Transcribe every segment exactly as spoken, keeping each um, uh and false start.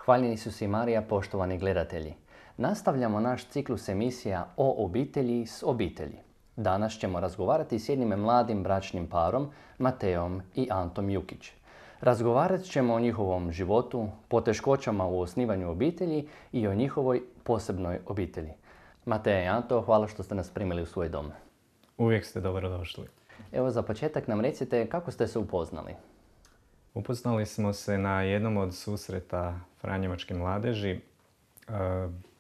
Hvaljeni Isus i Marija, poštovani gledatelji. Nastavljamo naš ciklus emisija o obitelji s obitelji. Danas ćemo razgovarati s jednim mladim bračnim parom, Mateom i Antom Jukić. Razgovarat ćemo o njihovom životu, poteškoćama u osnivanju obitelji i o njihovoj posebnoj obitelji. Mateja i Anto, hvala što ste nas primili u svoj dom. Uvijek ste dobrodošli. Evo, za početak nam recite kako ste se upoznali. Upoznali smo se na jednom od susreta Franjevačke mladeži. E,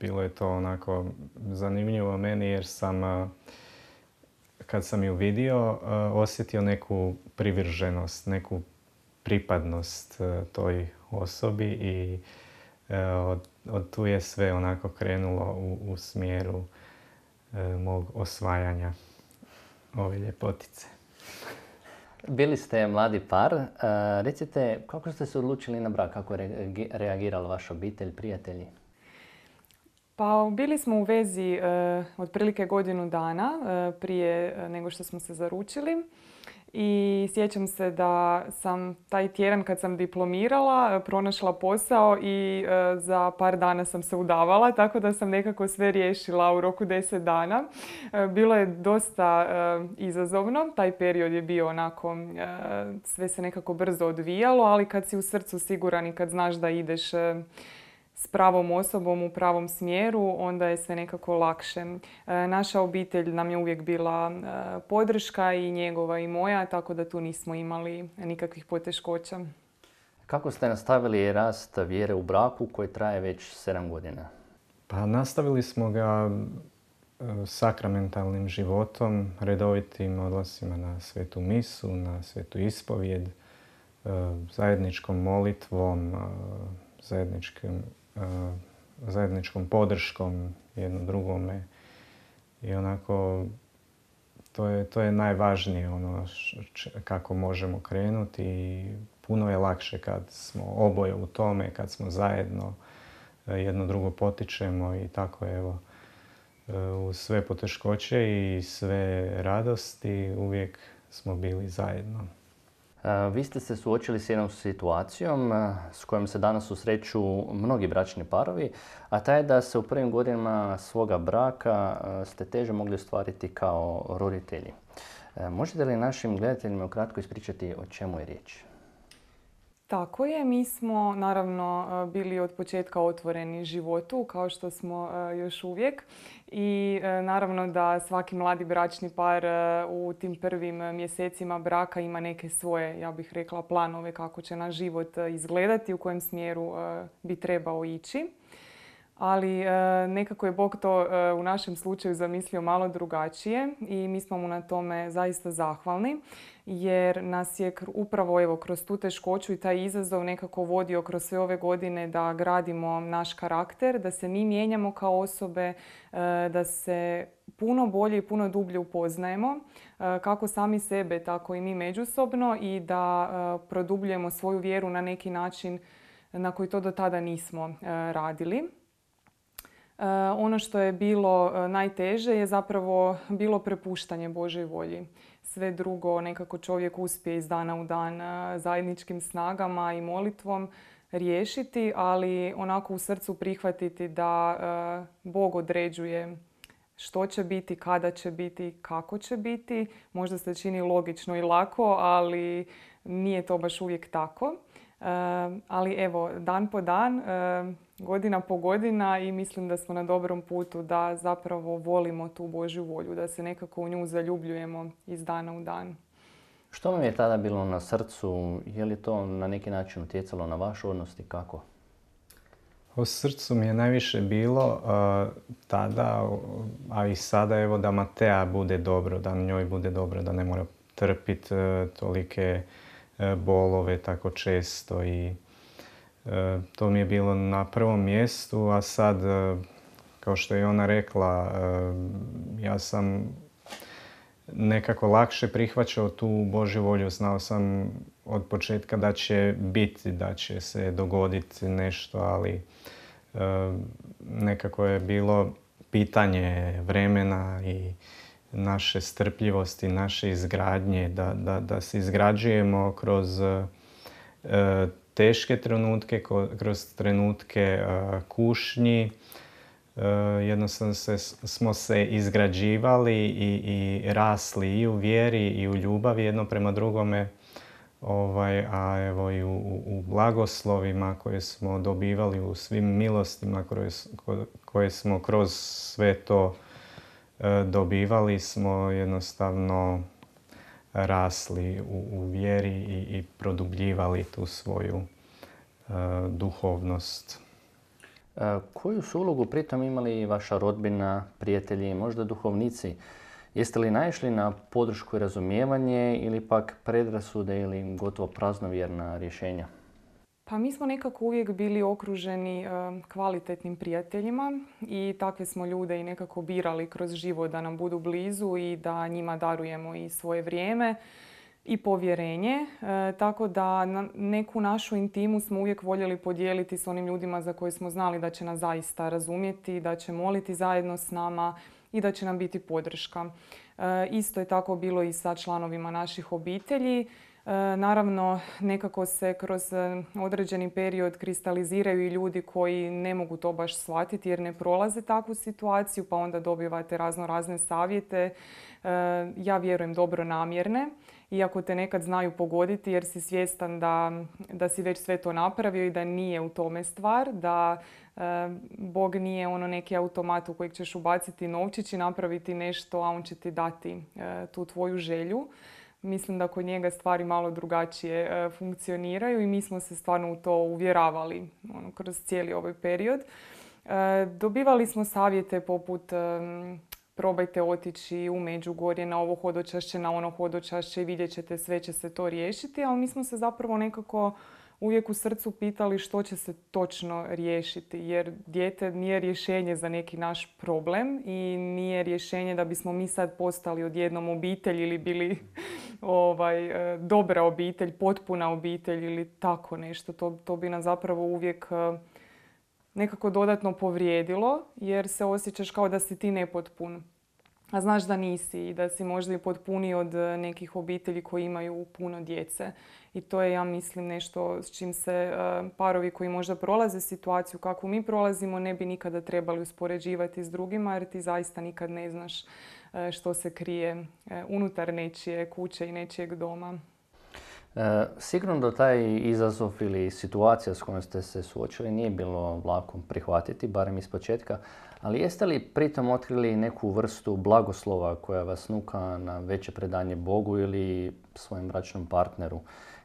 bilo je to onako zanimljivo meni jer sam, e, kad sam ju vidio, e, osjetio neku privrženost, neku pripadnost e, toj osobi i e, od, od tu je sve onako krenulo u, u smjeru e, mog osvajanja ove ljepotice. Bili ste mladi par. Uh, recite, kako ste se odlučili na brak? Kako je reagirala vaša obitelj, prijatelji? Pa bili smo u vezi uh, otprilike godinu dana uh, prije nego što smo se zaručili. I sjećam se da sam taj tjedan kad sam diplomirala pronašla posao i e, za par dana sam se udavala, tako da sam nekako sve riješila u roku deset dana. E, bilo je dosta e, izazovno, taj period je bio onako, e, sve se nekako brzo odvijalo, ali kad si u srcu siguran i kad znaš da ideš e, s pravom osobom u pravom smjeru, onda je sve nekako lakše. E, naša obitelj nam je uvijek bila e, podrška i njegova i moja, tako da tu nismo imali nikakvih poteškoća. Kako ste nastavili rast vjere u braku koji traje već sedam godina? Pa nastavili smo ga e, sakramentalnim životom, redovitim odlascima na svetu misu, na svetu ispovijed, e, zajedničkom molitvom, e, zajedničkim zajedničkom podrškom jedno drugome i onako to je, to je najvažnije ono č- kako možemo krenuti i puno je lakše kad smo oboje u tome, kad smo zajedno jedno drugo potičemo i tako evo uz sve poteškoće i sve radosti uvijek smo bili zajedno. Vi ste se suočili s jednom situacijom s kojom se danas susreću mnogi bračni parovi, a ta je da se u prvim godinama svoga braka ste teže mogli ostvariti kao roditelji. Možete li našim gledateljima ukratko ispričati o čemu je riječ? Tako je, mi smo naravno bili od početka otvoreni životu, kao što smo još uvijek. I naravno da svaki mladi bračni par u tim prvim mjesecima braka ima neke svoje, ja bih rekla, planove kako će naš život izgledati, u kojem smjeru bi trebao ići. Ali nekako je Bog to u našem slučaju zamislio malo drugačije i mi smo mu na tome zaista zahvalni jer nas je upravo evo, kroz tu teškoću i taj izazov nekako vodio kroz sve ove godine da gradimo naš karakter, da se mi mijenjamo kao osobe, da se puno bolje i puno dublje upoznajemo, kako sami sebe, tako i mi međusobno i da produbljujemo svoju vjeru na neki način na koji to do tada nismo radili. Ono što je bilo najteže je zapravo bilo prepuštanje Božoj volji. Sve drugo nekako čovjek uspije iz dana u dan zajedničkim snagama i molitvom riješiti, ali onako u srcu prihvatiti da Bog određuje što će biti, kada će biti, kako će biti. Možda se čini logično i lako, ali nije to baš uvijek tako. Ali evo, dan po dan, godina po godina i mislim da smo na dobrom putu da zapravo volimo tu Božju volju, da se nekako u nju zaljubljujemo iz dana u dan. Što vam je tada bilo na srcu? Je li to na neki način utjecalo na vašu odnos i kako? U srcu mi je najviše bilo uh, tada, a i sada evo da Mateja bude dobro, da njoj bude dobro, da ne mora trpiti uh, tolike uh, bolove tako često i uh, to mi je bilo na prvom mjestu, a sad, uh, kao što je ona rekla, uh, ja sam nekako lakše prihvaćao tu Božju volju. Znao sam od početka da će biti, da će se dogoditi nešto, ali e, nekako je bilo pitanje vremena i naše strpljivosti, naše izgradnje, da, da, da se izgrađujemo kroz e, teške trenutke, kroz trenutke kušnji. Jednostavno se, smo se izgrađivali i, i rasli i u vjeri i u ljubavi jedno prema drugome. Ovaj, a evo i u, u blagoslovima koje smo dobivali, u svim milostima koje, koje smo kroz sve to e, dobivali, smo jednostavno rasli u, u vjeri i, i produbljivali tu svoju e, duhovnost. E, koju su ulogu pritom imali vaša rodbina, prijatelji, možda duhovnici? Jeste li naišli na podršku i razumijevanje ili pak predrasude ili gotovo praznovjerna rješenja? Pa mi smo nekako uvijek bili okruženi kvalitetnim prijateljima i takve smo ljude i nekako birali kroz život da nam budu blizu i da njima darujemo i svoje vrijeme i povjerenje. E, tako da neku našu intimu smo uvijek voljeli podijeliti s onim ljudima za koje smo znali da će nas zaista razumjeti, da će moliti zajedno s nama i da će nam biti podrška. E, isto je tako bilo i sa članovima naših obitelji. E, naravno, nekako se kroz određeni period kristaliziraju i ljudi koji ne mogu to baš shvatiti jer ne prolaze takvu situaciju, pa onda dobivate razno razne savjete. E, ja vjerujem dobronamjerne, iako te nekad znaju pogoditi jer si svjestan da, da si već sve to napravio i da nije u tome stvar, da e, Bog nije ono neki automat u kojeg ćeš ubaciti novčić i napraviti nešto, a on će ti dati e, tu tvoju želju. Mislim da kod njega stvari malo drugačije e, funkcioniraju i mi smo se stvarno u to uvjeravali ono, kroz cijeli ovaj period. E, dobivali smo savjete poput e, probajte otići u Međugorje na ovo hodočašće, na ono hodočašće i vidjet ćete sve će se to riješiti, ali mi smo se zapravo nekako uvijek u srcu pitali što će se točno riješiti, jer dijete nije rješenje za neki naš problem i nije rješenje da bismo mi sad postali odjednom obitelj ili bili ovaj, dobra obitelj, potpuna obitelj ili tako nešto. To, to bi nas zapravo uvijek nekako dodatno povrijedilo jer se osjećaš kao da si ti nepotpun. A znaš da nisi i da si možda i potpuniji od nekih obitelji koji imaju puno djece. I to je, ja mislim, nešto s čim se parovi koji možda prolaze situaciju kakvu mi prolazimo ne bi nikada trebali uspoređivati s drugima jer ti zaista nikad ne znaš što se krije unutar nečije kuće i nečijeg doma. E, sigurno da taj izazov ili situacija s kojom ste se suočili nije bilo lako prihvatiti, barem iz početka, ali jeste li pritom otkrili neku vrstu blagoslova koja vas nuka na veće predanje Bogu ili svojem bračnom partneru?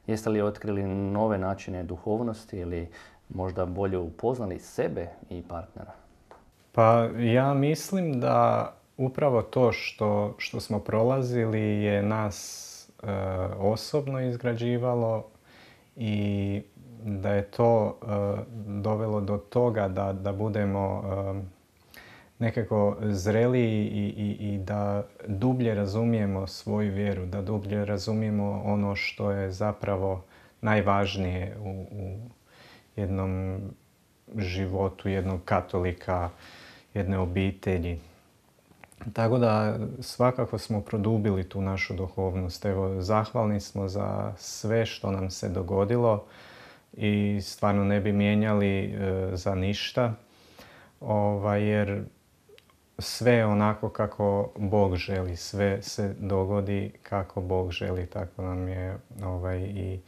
Jeste li otkrili nove načine duhovnosti ili možda bolje upoznali sebe i partnera? Pa ja mislim da upravo to što, što smo prolazili je nas e, osobno izgrađivalo i da je to e, dovelo do toga da, da budemo e, nekako zreliji i, i, i da dublje razumijemo svoju vjeru, da dublje razumijemo ono što je zapravo najvažnije u, u jednom životu jednog katolika, jedne obitelji. Tako da svakako smo produbili tu našu duhovnost. Evo, zahvalni smo za sve što nam se dogodilo i stvarno ne bi mijenjali e, za ništa, ovaj, jer sve je onako kako Bog želi, sve se dogodi kako Bog želi, tako nam je ovaj, i,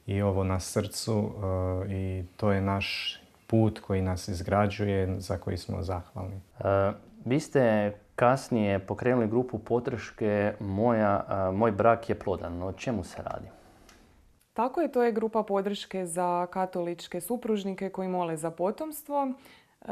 i ovo na srcu uh, i to je naš put koji nas izgrađuje, za koji smo zahvalni. Uh, vi ste kasnije pokrenuli grupu podrške Moja, uh, Moj brak je plodan. O čemu se radi? Tako je, to je grupa podrške za katoličke supružnike koji mole za potomstvo. Uh,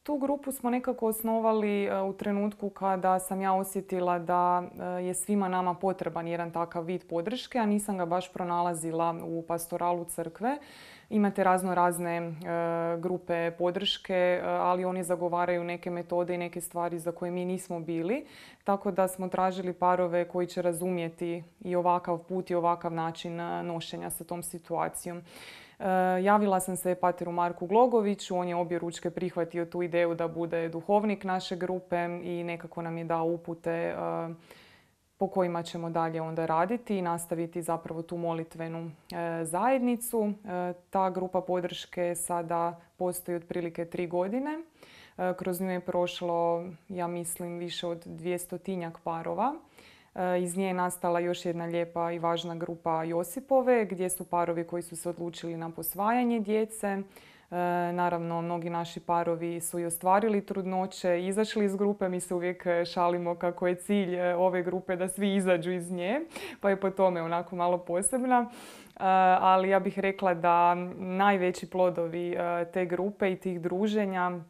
Tu grupu smo nekako osnovali u trenutku kada sam ja osjetila da je svima nama potreban jedan takav vid podrške, a nisam ga baš pronalazila u pastoralu crkve. Imate razno razne e, grupe podrške, ali oni zagovaraju neke metode i neke stvari za koje mi nismo bili. Tako da smo tražili parove koji će razumjeti i ovakav put i ovakav način nošenja sa tom situacijom. E, javila sam se pateru Marku Glogoviću, on je objeručke prihvatio tu ideju da bude duhovnik naše grupe i nekako nam je dao upute e, po kojima ćemo dalje onda raditi i nastaviti zapravo tu molitvenu e, zajednicu. E, ta grupa podrške sada postoji otprilike tri godine. E, kroz nju je prošlo, ja mislim, više od dvjestotinjak parova. E, iz nje je nastala još jedna lijepa i važna grupa Josipove, gdje su parovi koji su se odlučili na posvajanje djece. E, naravno, mnogi naši parovi su i ostvarili trudnoće, izašli iz grupe. Mi se uvijek šalimo kako je cilj ove grupe da svi izađu iz nje, pa je po tome onako malo posebna. E, ali ja bih rekla da najveći plodovi e, te grupe i tih druženja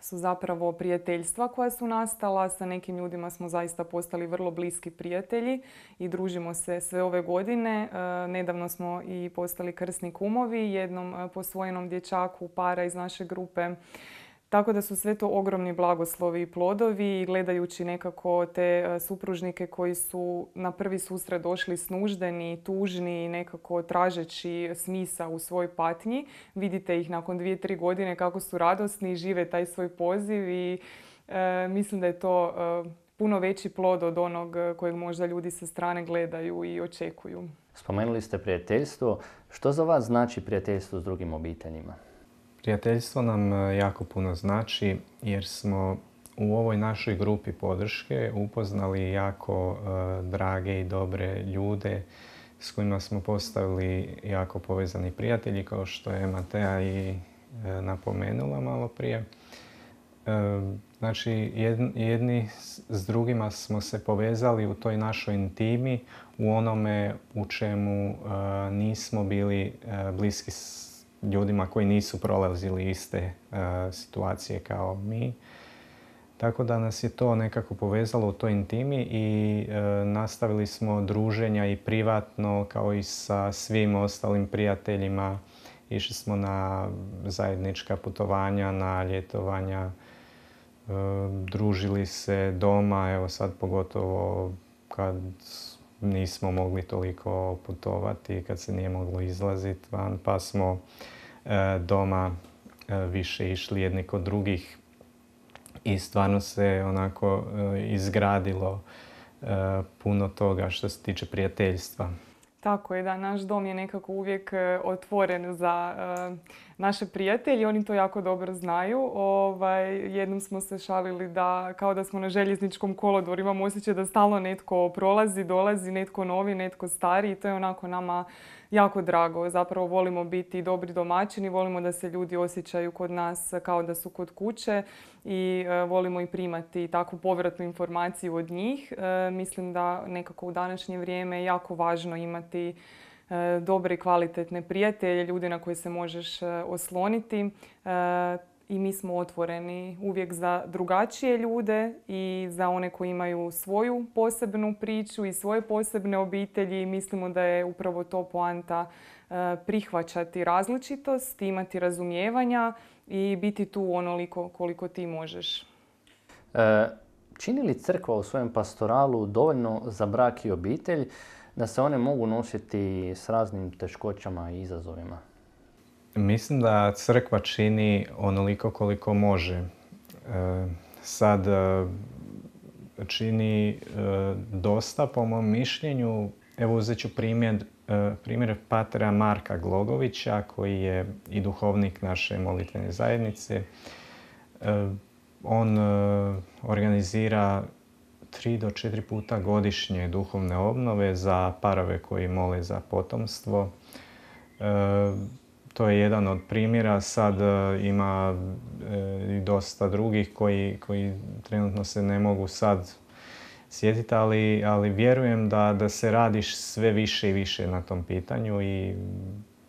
su zapravo prijateljstva koja su nastala. Sa nekim ljudima smo zaista postali vrlo bliski prijatelji i družimo se sve ove godine. E, nedavno smo i postali krsni kumovi jednom posvojenom dječaku para iz naše grupe. Tako da su sve to ogromni blagoslovi i plodovi. Gledajući nekako te supružnike koji su na prvi susret došli snuždeni, tužni, nekako tražeći smisa u svojoj patnji. Vidite ih nakon dvije, tri godine kako su radosni, žive taj svoj poziv i e, mislim da je to e, puno veći plod od onog kojeg možda ljudi sa strane gledaju i očekuju. Spomenuli ste prijateljstvo. Što za vas znači prijateljstvo s drugim obiteljima? Prijateljstvo nam jako puno znači jer smo u ovoj našoj grupi podrške upoznali jako uh, drage i dobre ljude s kojima smo postavili jako povezani prijatelji, kao što je Matea i uh, napomenula malo prije. Uh, znači, jedni, jedni s drugima smo se povezali u toj našoj intimi, u onome u čemu uh, nismo bili uh, bliski s ljudima koji nisu prolazili iste uh, situacije kao mi. Tako da nas je to nekako povezalo u toj intimi i uh, nastavili smo druženja i privatno kao i sa svim ostalim prijateljima. Išli smo na zajednička putovanja, na ljetovanja, uh, družili se doma, evo sad pogotovo kad nismo mogli toliko putovati, kad se nije moglo izlaziti van, pa smo e, doma e, više išli jedni kod drugih i stvarno se onako e, izgradilo e, puno toga što se tiče prijateljstva. Tako je, da, naš dom je nekako uvijek otvoren za uh, naše prijatelje. Oni to jako dobro znaju. Ovaj, jednom smo se šalili da kao da smo na željezničkom kolodvoru. Imamo osjećaj da stalno netko prolazi, dolazi, netko novi, netko stari i to je onako nama jako drago. Zapravo volimo biti dobri domaćini, volimo da se ljudi osjećaju kod nas kao da su kod kuće i uh, volimo i primati takvu povratnu informaciju od njih. Uh, mislim da nekako u današnje vrijeme je jako važno imati uh, dobre i kvalitetne prijatelje, ljude na koje se možeš uh, osloniti. Uh, I mi smo otvoreni uvijek za drugačije ljude i za one koji imaju svoju posebnu priču i svoje posebne obitelji. Mislimo da je upravo to poanta prihvaćati različitost, imati razumijevanja i biti tu onoliko koliko ti možeš. E, čini li crkva u svojem pastoralu dovoljno za brak i obitelj da se one mogu nositi s raznim teškoćama i izazovima? Mislim da crkva čini onoliko koliko može. E, sad e, čini e, dosta po mom mišljenju. Evo uzet ću primjer, e, primjer patera Marka Glogovića koji je i duhovnik naše molitvene zajednice. E, on e, organizira tri do četiri puta godišnje duhovne obnove za parove koji mole za potomstvo. E, To je jedan od primjera. Sad uh, ima uh, i dosta drugih koji, koji trenutno se ne mogu sad sjetiti, ali, ali vjerujem da, da se radiš sve više i više na tom pitanju i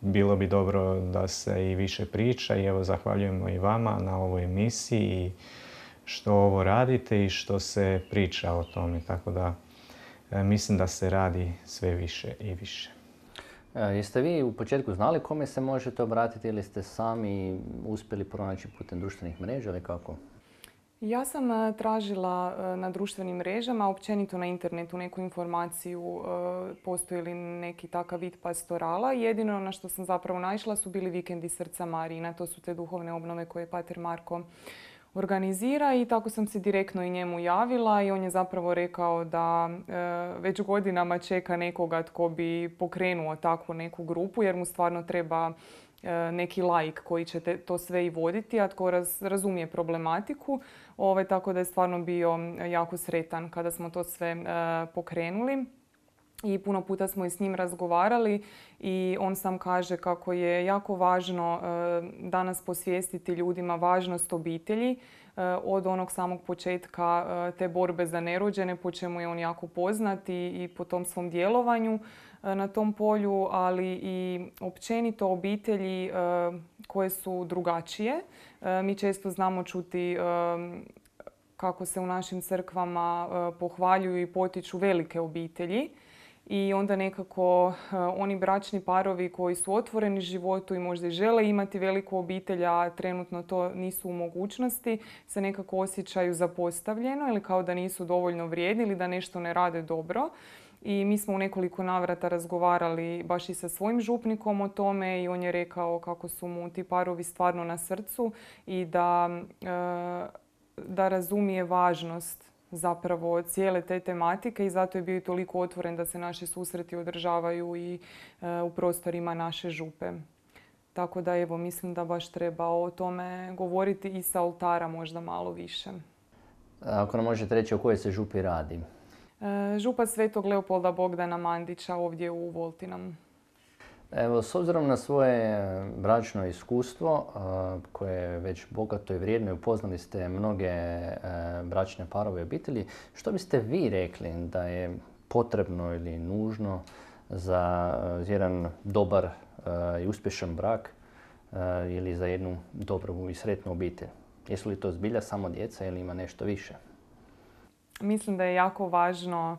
bilo bi dobro da se i više priča i evo zahvaljujemo i vama na ovoj emisiji što ovo radite i što se priča o tome. Tako da uh, mislim da se radi sve više i više. Jeste vi u početku znali kome se možete obratiti ili ste sami uspjeli pronaći putem društvenih mreža ili kako? Ja sam tražila na društvenim mrežama, općenito na internetu, neku informaciju postoji li neki takav vid pastorala. Jedino na što sam zapravo naišla su bili vikendi Srca Marijina. To su te duhovne obnove koje je pater Marko organizira i tako sam se direktno i njemu javila i on je zapravo rekao da e, već godinama čeka nekoga tko bi pokrenuo takvu neku grupu jer mu stvarno treba e, neki laik koji će te, to sve i voditi, a tko raz, razumije problematiku. Ove, tako da je stvarno bio jako sretan kada smo to sve e, pokrenuli. I puno puta smo i s njim razgovarali i on sam kaže kako je jako važno danas posvijestiti ljudima važnost obitelji od onog samog početka te borbe za nerođene, po čemu je on jako poznat i po tom svom djelovanju na tom polju, ali i općenito obitelji koje su drugačije. Mi često znamo čuti kako se u našim crkvama pohvaljuju i potiču velike obitelji. I onda nekako uh, oni bračni parovi koji su otvoreni životu i možda i žele imati veliku obitelj, a trenutno to nisu u mogućnosti, se nekako osjećaju zapostavljeno ili kao da nisu dovoljno vrijedni ili da nešto ne rade dobro. I mi smo u nekoliko navrata razgovarali baš i sa svojim župnikom o tome i on je rekao kako su mu ti parovi stvarno na srcu i da, uh, da razumije važnost zapravo cijele te tematike i zato je bio i toliko otvoren da se naši susreti održavaju i e, u prostorima naše župe. Tako da evo, mislim da baš treba o tome govoriti i sa oltara možda malo više. Ako nam možete reći o kojoj se župi radi? E, župa Svetog Leopolda Bogdana Mandića ovdje u Voltinama. Evo, s obzirom na svoje bračno iskustvo, koje je već bogato i vrijedno i upoznali ste mnoge bračne parove i obitelji, što biste vi rekli da je potrebno ili nužno za jedan dobar i uspješan brak ili za jednu dobru i sretnu obitelj? Jesu li to zbilja samo djeca ili ima nešto više? Mislim da je jako važno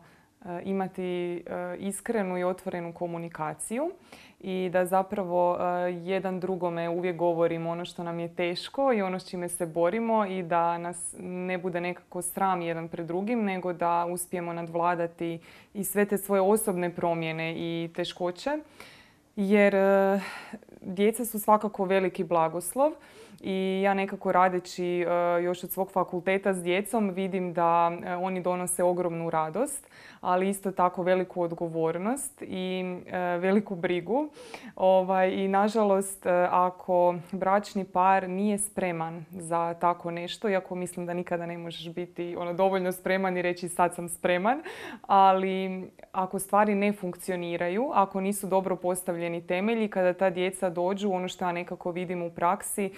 imati iskrenu i otvorenu komunikaciju i da zapravo jedan drugome uvijek govorimo ono što nam je teško i ono s čime se borimo i da nas ne bude nekako sram jedan pred drugim, nego da uspijemo nadvladati i sve te svoje osobne promjene i teškoće. Jer djeca su svakako veliki blagoslov i ja nekako radeći još od svog fakulteta s djecom vidim da oni donose ogromnu radost, ali isto tako veliku odgovornost i veliku brigu. I nažalost, ako bračni par nije spreman za tako nešto, iako mislim da nikada ne možeš biti ono, dovoljno spreman i reći sad sam spreman, ali ako stvari ne funkcioniraju, ako nisu dobro postavljeni temelji, kada ta djeca dođu, ono što ja nekako vidim u praksi,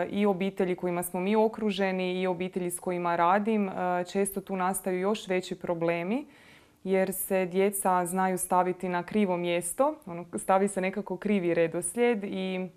i obitelji kojima smo mi okruženi i obitelji s kojima radim, često tu nastaju još veći problemi jer se djeca znaju staviti na krivo mjesto, ono, stavi se nekako krivi redoslijed i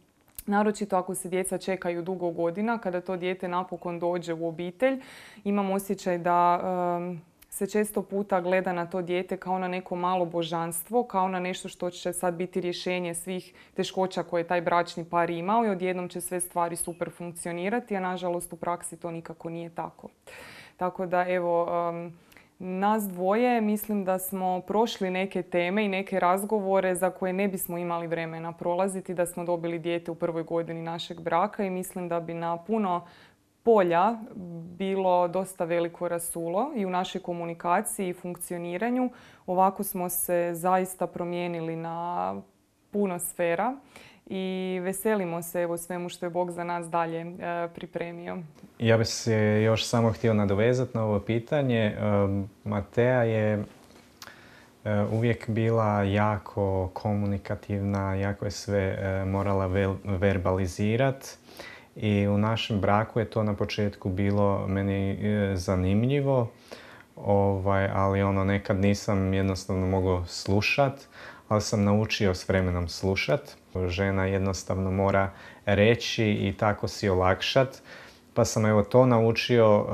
naročito ako se djeca čekaju dugo godina, kada to dijete napokon dođe u obitelj, imam osjećaj da um, se često puta gleda na to dijete kao na neko malo božanstvo, kao na nešto što će sad biti rješenje svih teškoća koje taj bračni par imao i odjednom će sve stvari super funkcionirati, a nažalost u praksi to nikako nije tako. Tako da evo, um, nas dvoje mislim da smo prošli neke teme i neke razgovore za koje ne bismo imali vremena prolaziti da smo dobili dijete u prvoj godini našeg braka i mislim da bi na puno polja bilo dosta veliko rasulo i u našoj komunikaciji i funkcioniranju. Ovako smo se zaista promijenili na puno sfera i veselimo se evo svemu što je Bog za nas dalje e, pripremio. Ja bih se još samo htio nadovezati na ovo pitanje. E, Matea je e, uvijek bila jako komunikativna, jako je sve e, morala vel, verbalizirati. I u našem braku je to na početku bilo meni e, zanimljivo, ovaj, ali ono nekad nisam jednostavno mogao slušat, ali sam naučio s vremenom slušat. Žena jednostavno mora reći i tako si olakšat. Pa sam evo to naučio uh,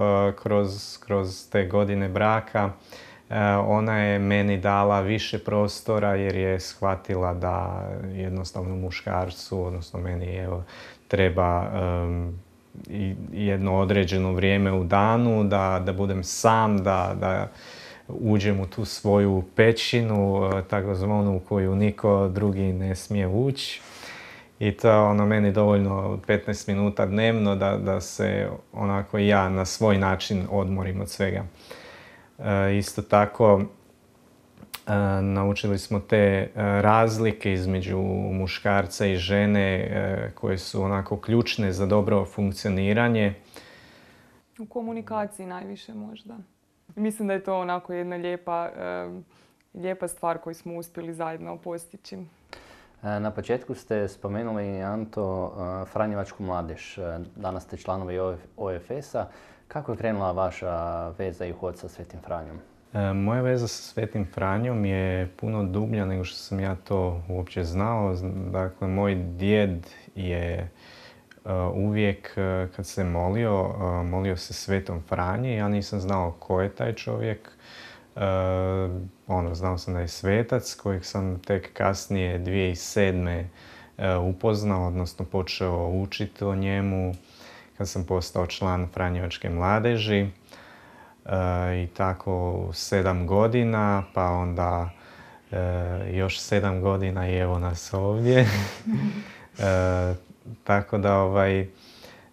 kroz, kroz te godine braka. Uh, ona je meni dala više prostora jer je shvatila da jednostavno muškarcu, odnosno meni evo, treba um, i jedno određeno vrijeme u danu, da, da budem sam, da, da uđem u tu svoju pećinu, takozvanu u koju niko drugi ne smije ući. I to je ono meni dovoljno petnaest minuta dnevno da, da se onako ja na svoj način odmorim od svega. E, isto tako, e, naučili smo te e, razlike između muškarca i žene e, koje su onako ključne za dobro funkcioniranje. U komunikaciji najviše možda. Mislim da je to onako jedna lijepa, e, lijepa stvar koju smo uspjeli zajedno postići. Na početku ste spomenuli, Anto, Franjevačku mladež. Danas ste članovi O F S-a. Kako je krenula vaša veza i hod sa Svetim Franjom? E, moja veza sa Svetim Franjom je puno dublja nego što sam ja to uopće znao. Dakle, moj djed je uh, uvijek uh, kad se molio, uh, molio se Svetom Franji. Ja nisam znao ko je taj čovjek. Uh, ono, znao sam da je svetac kojeg sam tek kasnije dvije tisuće sedme uh, upoznao, odnosno počeo učiti o njemu kad sam postao član Franjevačke mladeži. Uh, I tako sedam godina, pa onda uh, još sedam godina i evo nas ovdje. uh, tako da ovaj,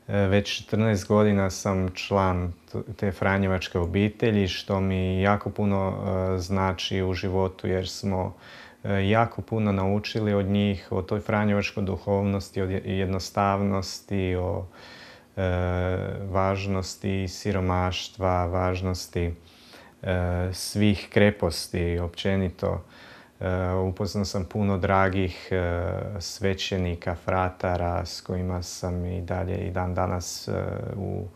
već četrnaest godina sam član te Franjevačke obitelji, što mi jako puno uh, znači u životu jer smo uh, jako puno naučili od njih, o toj franjevačkoj duhovnosti, o jednostavnosti, o uh, važnosti siromaštva, važnosti uh, svih kreposti općenito. Uh, upoznao sam puno dragih uh, svećenika, fratara s kojima sam i dalje i dan danas uh, u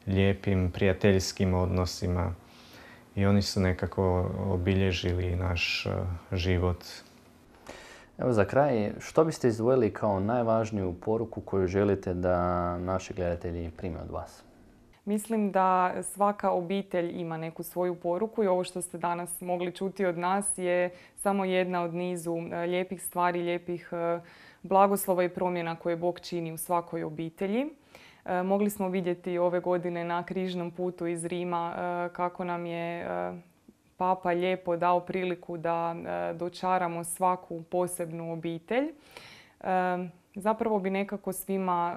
lijepim prijateljskim odnosima i oni su nekako obilježili naš uh, život. Evo za kraj, što biste izdvojili kao najvažniju poruku koju želite da naši gledatelji prime od vas? Mislim da svaka obitelj ima neku svoju poruku i ovo što ste danas mogli čuti od nas je samo jedna od nizu lijepih stvari, lijepih blagoslova i promjena koje Bog čini u svakoj obitelji. Mogli smo vidjeti ove godine na križnom putu iz Rima kako nam je Papa lijepo dao priliku da dočaramo svaku posebnu obitelj. Zapravo bi nekako svima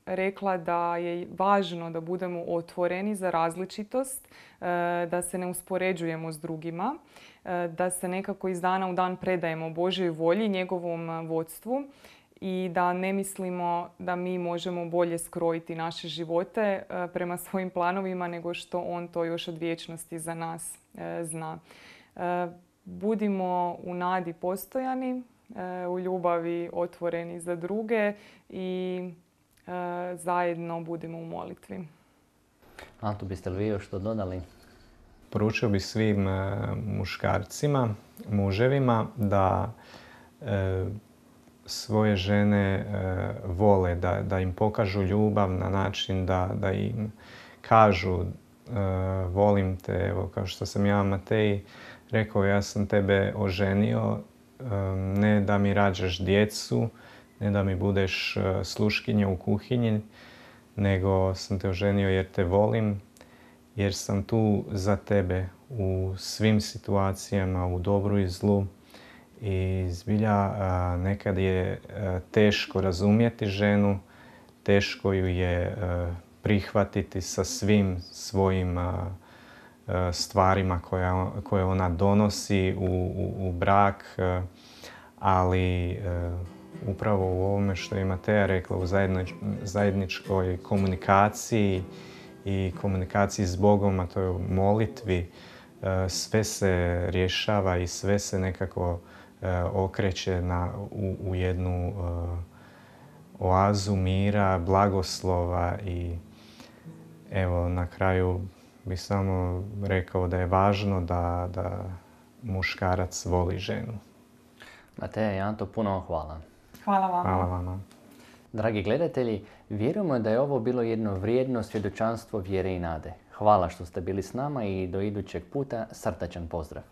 rekla da je važno da budemo otvoreni za različitost, da se ne uspoređujemo s drugima, da se nekako iz dana u dan predajemo Božjoj volji, njegovom vodstvu i da ne mislimo da mi možemo bolje skrojiti naše živote prema svojim planovima nego što on to još od vječnosti za nas zna. Budimo u nadi postojani, u ljubavi otvoreni za druge i zajedno budemo u molitvi. Anto, biste li vi još što dodali? Poručio bih svim muškarcima, muževima da e, svoje žene e, vole, da, da im pokažu ljubav na način da, da im kažu e, volim te, evo kao što sam ja Mateji rekao, ja sam tebe oženio, e, ne da mi rađaš djecu, ne da mi budeš sluškinja u kuhinji, nego sam te oženio jer te volim, jer sam tu za tebe u svim situacijama, u dobru i zlu. I zbilja nekad je teško razumjeti ženu, teško ju je prihvatiti sa svim svojim stvarima koje ona donosi u, u, u brak, ali upravo u ovome što je Mateja rekla, u zajedničkoj komunikaciji i komunikaciji s Bogom, a to je u molitvi, sve se rješava i sve se nekako okreće na, u, u jednu oazu mira, blagoslova i evo na kraju bih samo rekao da je važno da, da muškarac voli ženu. Mateja i Anto, puno vam hvala. Hvala vama. Hvala vama. Dragi gledatelji, vjerujemo da je ovo bilo jedno vrijedno svjedočanstvo vjere i nade. Hvala što ste bili s nama i do idućeg puta srdačan pozdrav.